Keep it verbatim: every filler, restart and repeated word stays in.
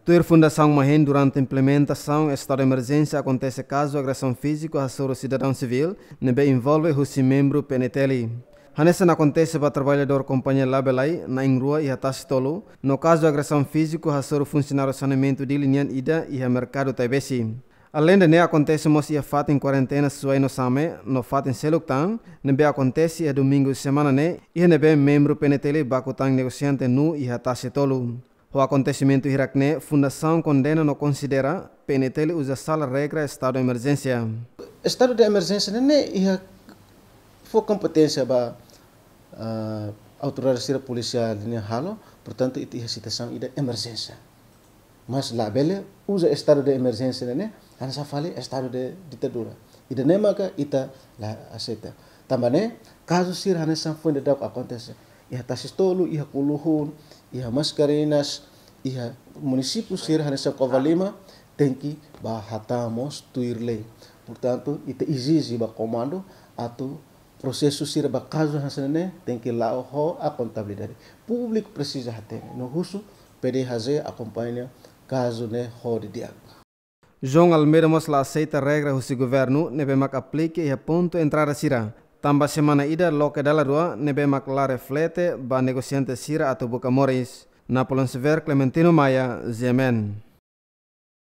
Tuir Fundasaun MAHEN, durante implementasaun estadu de emerjénsia akontese kazu agresaun fíziku hasoru sidadaun sivíl ne'ebé envolve husi membru P N T L. Hanesan akontese ba traballadór kompañia Labelai, na'in-rua iha Tasi Tolu, no kazu agresaun fíziku hasoru funsionáriu saneamentu Dili nian ida iha merkadu Taibesi. Aleinde ne'e, akontese mós iha fatin kuarentena Suai no Same, no fatin seluk tan, ne'ebé akontese iha domingu semana ne'e, iha ne'ebé membru P N T L baku tan negosiante nuu iha Tasi Tolu. Ho akontesimentu hirak ne'e, Fundasaun kondena no konsidera P N T L uza sala regra estadu de emerjénsia. Estadu de emerjénsia ne'e, ne'e iha fó kompeténsia ba, ah, autoridade sira polisiál nian halo, portantu, ita iha situasaun ida emerjénsia. Mas labele uza estadu de emerjénsia ne'e, ne'e hanesan fali estadu de ditadura. Ida-ne'e maka ita la aseita. Tanba ne'e, kazu sira hanesan foin daudauk akontese iha Tasi Tolu, iha Kuluhun, iha Mascarenhas, iha munisípiu sira hanesan Covalima, tenke bá hatán mós tuir lei. Portantu, ita ezije ba komandu atu prosesu sira ba kazu hanesan ne'e tenke la'o ho akontabilidade. Públiku presiza hatene, no husu P D H J akompaña kazu ne'e ho didi'ak. João Almeida mós la aseita regra husi governu ne'ebé mak aplike iha pontu entrada sira, tanba semana ida loke dala rua ne'ebé mak la reflete ba negosiante sira atu buka moris. Napoleão Severo, Clementino Maia, G M N.